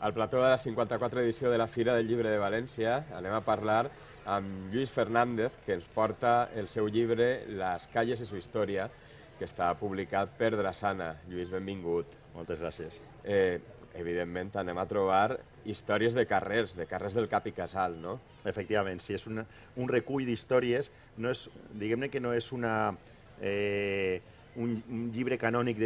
Al plató de la 54 edició de la Fira del Llibre de València anem a parlar amb Lluís Fernández, que ens porta el seu llibre Les calles y su historia, que està publicat per Drassana. Lluís, benvingut. Moltes gràcies. Evidentment, anem a trobar històries de carrers del Cap i Casal, no? Efectivament, sí, és un recull d'històries, diguem-ne que no és un llibre canònic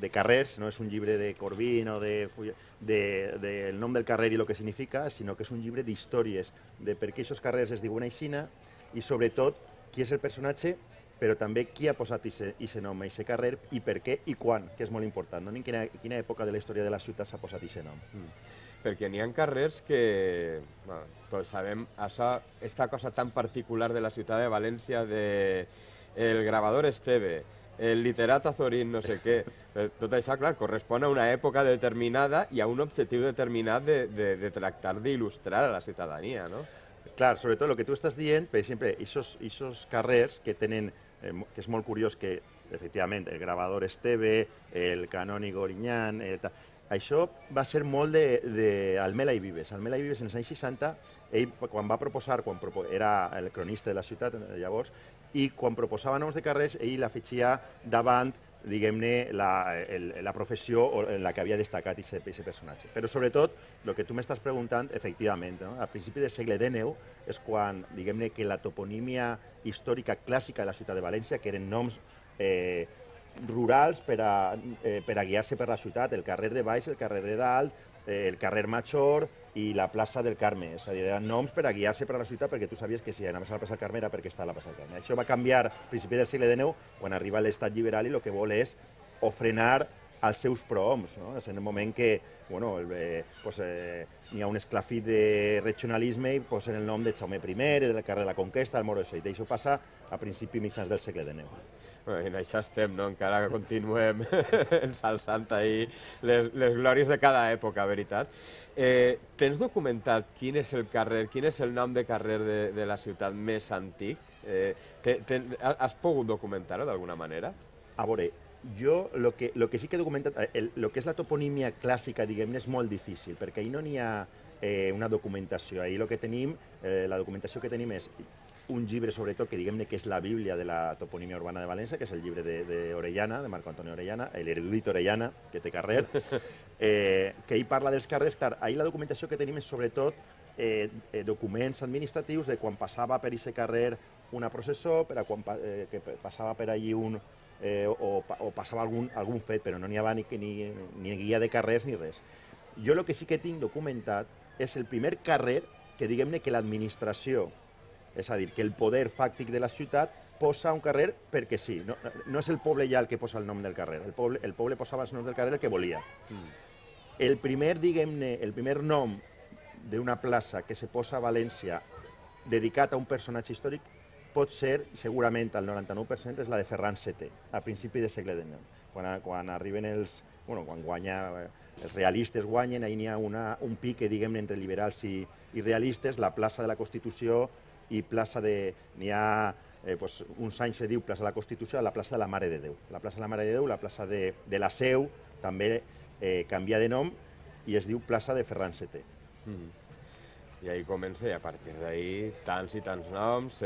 de carrers, no és un llibre de Corbin o del nom del carrer i el que significa, sinó que és un llibre d'històries, de per què aquests carrers es diuen aixina i, sobretot, qui és el personatge, però també qui ha posat aquest nom a aquest carrer i per què i quan, que és molt important, no? En quina època de la història de la ciutat s'ha posat aquest nom. Perquè n'hi ha carrers que, tots sabem, aquesta cosa tan particular de la ciutat de València, el gravador Esteve, el literat Azorín, no sé què, tot això, clar, correspon a una època determinada i a un objectiu determinat de tractar d'il·lustrar a la ciutadania, no? Clar, sobretot el que tu estàs dient, per exemple, aquests carrers que tenen, que és molt curiós que, efectivament, el gravador Esteve, el canònigo Orinyán, això va ser molt d'Almela i Vives. Almela i Vives, en els anys 60, ell, quan va proposar, era el cronista de la ciutat llavors, i quan proposava noms de carrers, ell l'afegia davant, diguem-ne, la professió en la que havia destacat aquest personatge. Però, sobretot, el que tu m'estàs preguntant, efectivament, a principi del segle XIX és quan, diguem-ne, que la toponímia històrica clàssica de la ciutat de València, que eren noms rurals per a guiar-se per la ciutat, el carrer de Baix, el carrer de Dalt, el carrer Major i la plaça del Carme. És a dir, eren noms per a guiar-se per a la ciutat perquè tu sabies que si anaves a la plaça del Carme era perquè estava a la plaça del Carme. Això va canviar a principi del segle XIX, quan arriba l'estat liberal i el que vol és ofrenar els seus prohoms. És en el moment que n'hi ha un esclafit de regionalisme i posen el nom de Jaume I, del carrer de la Conquesta, el Moro de Seit. Això passa a principi mitjans del segle XIX. I en això estem, no? Encara que continuem ensalçant ahir les glòries de cada època, veritat. Tens documentat quin és el carrer, quin és el nom de carrer de la ciutat més antic? Has pogut documentar-ho d'alguna manera? A veure, jo el que sí que he documentat, el que és la toponímia clàssica, diguem-ne, és molt difícil, perquè ahir no n'hi ha una documentació. Ahir el que tenim, la documentació que tenim és un llibre, sobretot, que diguem-ne que és la bíblia de la toponímia urbana de València, que és el llibre d'Orellana, de Marco Antonio Orellana, l'erudit Orellana, que té carrer, que ell parla dels carrers. Clar, ahir la documentació que tenim és, sobretot, documents administratius de quan passava per aquest carrer una processó, que passava per allí o passava algun fet, però no n'hi havia ni guia de carrers ni res. Jo el que sí que tinc documentat és el primer carrer que, diguem-ne, que l'administració, és a dir, que el poder fàctic de la ciutat posa un carrer perquè sí. No és el poble ja el que posa el nom del carrer. El poble posava el nom del carrer el que volia. El primer, diguem-ne, el primer nom d'una plaça que se posa a València dedicat a un personatge històric pot ser, segurament, al 99%, és la de Ferran VII, a principi del segle XIX. Quan arriben quan els realistes guanyen, ahir n'hi ha un pique, diguem-ne, entre liberals i realistes, la plaça de la Constitució i plaça de... N'hi ha uns anys se diu plaça de la Constitució, la plaça de la Mare de Déu. La plaça de la Mare de Déu, la plaça de la Seu, també canvia de nom i es diu plaça de Ferran VII. I ahir comença, i a partir d'ahir, tants i tants noms,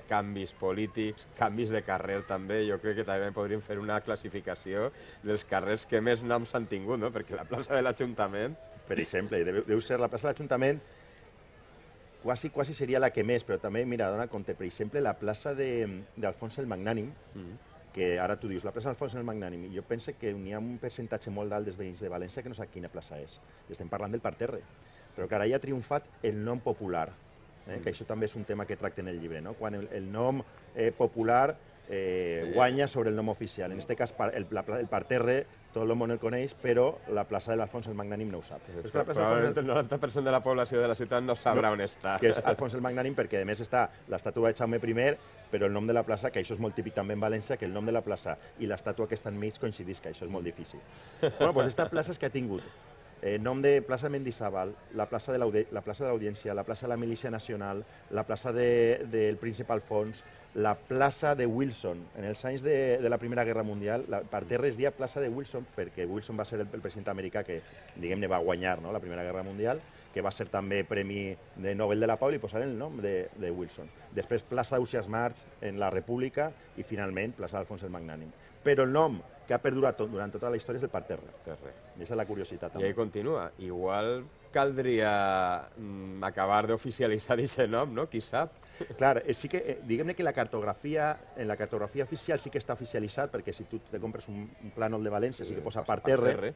canvis polítics, canvis de carrer també. Jo crec que també podríem fer una classificació dels carrers que més noms han tingut, no? Perquè la plaça de l'Ajuntament... Per exemple, deu ser la plaça de l'Ajuntament, quasi seria la que més, però també, mira, dona compte, per exemple, la plaça d'Alfons el Magnànim, que ara tu dius, la plaça d'Alfons el Magnànim, i jo penso que n'hi ha un percentatge molt alt dels veïns de València que no sap quina plaça és. I estem parlant del parterre. Però que ara ja ha triomfat el nom popular, que això també és un tema que tracta en el llibre, no? Quan el nom popular guanya sobre el nom oficial. En aquest cas, el parterre, tot el món el coneix, però la plaça de l'Alfons el Magnànim no ho sap. Probablement el 90% de la població de la ciutat no sabrà on està. Que és Alfons el Magnànim, perquè a més està l'estàtua de Jaume I, però el nom de la plaça, que això és molt típic també en València, que el nom de la plaça i l'estàtua que està enmig coincidís, que això és molt difícil. Bueno, doncs aquesta plaça és que ha tingut nom de plaça Mendizábal, la plaça de l'Audiència, la plaça de la Milícia Nacional, la plaça del Príncep Alfons, la plaça de Wilson. En els anys de la Primera Guerra Mundial, per terra es deia plaça de Wilson, perquè Wilson va ser el president americà que, diguem-ne, va guanyar, no?, la Primera Guerra Mundial, que va ser també Premi de Nobel de la Pau, i posaren el nom de Wilson. Després plaça Ausiàs March en la República i finalment plaça d'Alfons el Magnànim. Però el nom que ha perdurat durant tota la història és el parterre. I aquesta és la curiositat també. I ahí continua. Igual caldria acabar d'oficialitzar aquest nom, no? Qui sap? Clar, sí que, diguem-ne que en la cartografia oficial sí que està oficialitzat, perquè si tu te compres un plànol de València sí que posa parterre,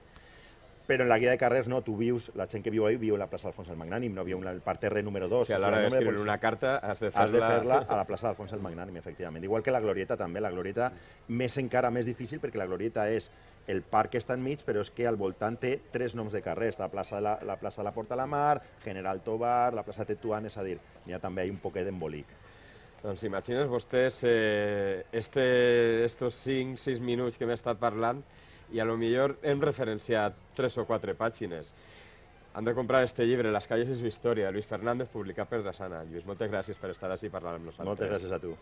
però en la guia de carrers no, tu vius, la gent que viu ahí viu en la plaça d'Alfons el Magnànim, no viu en el parterre número 2. Que a l'hora d'escriure una carta has de fer-la a la plaça d'Alfons el Magnànim, efectivament. Igual que la Glorieta també, la Glorieta més encara més difícil perquè la Glorieta és el parc que està enmig, però és que al voltant té 3 noms de carrers, la plaça de la Porta a la Mar, General Tobar, la plaça Tetuán, és a dir, hi ha també un poquet d'embolic. Doncs imagines vostès estos 5-6 minuts que m'he estat parlant i a lo millor hem referenciat 3 o 4 pàgines. Han de comprar este llibre, Las calles y su historia, de Luis Fernández, publicat per Dasana. Lluís, moltes gràcies per estar així parlant amb nosaltres. Moltes gràcies a tu.